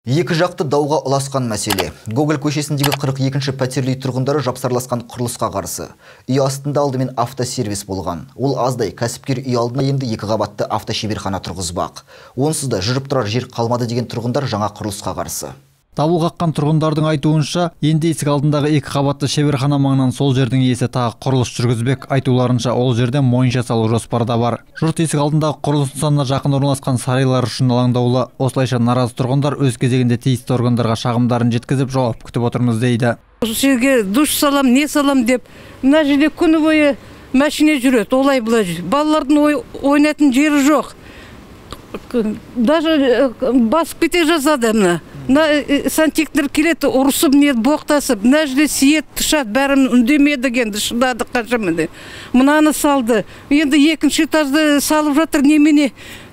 Екі жақты дауға ұласқан мәселе. Гоголь көшесіндегі 42-ші пәтерлі тұрғындары жапсарласқан құрылысқа қарсы. Үй астында алдымен автосервис болған. Ол аздай кәсіпкер үй алдына енді 2 қабатты автошеберхана тұрғызбақ. Онсыз да жүріп тұрар жер қалмады деген тұрғындар жаңа құрылысқа қарсы. Дабыл қаққан тұрғындардың айтуынша, енді есік алдындағы 2 қабатты шеберхана маңынан сол жердің иесі тағы құрылыс жүргізбек. Айтуларынша, ол жерде монша салу жоспарда бар. Жұрт есік алдындағы құрылыс нысанына жақын орналасқан сарайлар үшін алаңдаулы. Осылайша наразы тұрғындар өз кезегінде тиісті органдарға шағымдарын жеткізіп жауап күтіп отырмыз дейді. Осы жерге душ салам, не салам деп, мына жерде күні бойы машина жүреді, олай бұлай. Балалардың ойнайтын жері жоқ. Даже басып кете жазады мына. Сантехниктер келеді, ұрысып, боқтасып, мына жерде сиет тұшады, бәрін үндемеді енді, шыдады қашамын. Мынаны салды. Енді 2-ші этажды салып жатыр немене.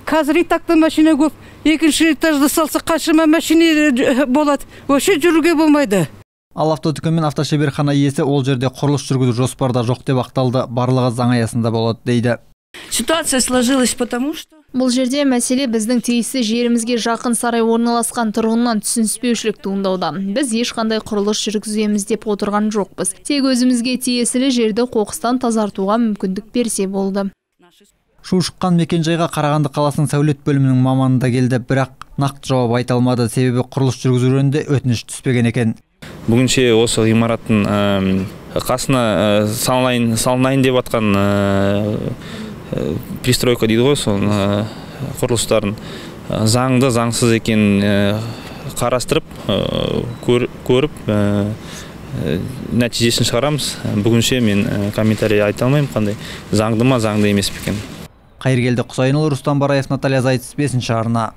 Қазір итакта машина көп. 2-ші этажды салса қашама машина болады. Өше жүруге болмайды. Ал автодүкен мен автошеберхана иесі ол жерде құрылыс жүргізу жоспарда жоқ деп ақталды. Барлығы заң аясында болады дейді. Ситуация сложилась потому что бұл жерде мәселе біздің тиісті жерімізге жақын сарай орналасқан тұрғыннан түсініспеушілік туындауда. Біз ешқандай құрылыс жүргіземіз деп отырған жоқпыз. Тек өзімізге тиесілі жерді қоқыстан тазартуға мүмкіндік берсе болды. Шу шыққан мекенжайға Қарағанды қаласының сәулет бөлімінің маманы да келді, бірақ нақты жауап айта алмады, себебі құрылыс жүргізу жөнінде өтініш түспеген екен. Бүгінше осы ғимараттың қасына салынайын деп атқан пристройка дейді ғой, сол құрылыстарын заңды заңсыз екенін қарастырып, көріп нәтижесін шығарамыз. Бүгінше мен комментарий айта алмаймын, қандай заңды ма, заңды емес пе екен. Қайыргелді Құсайынұлы, Рустам Бараев, Наталья Зайцев, 5-ші арна.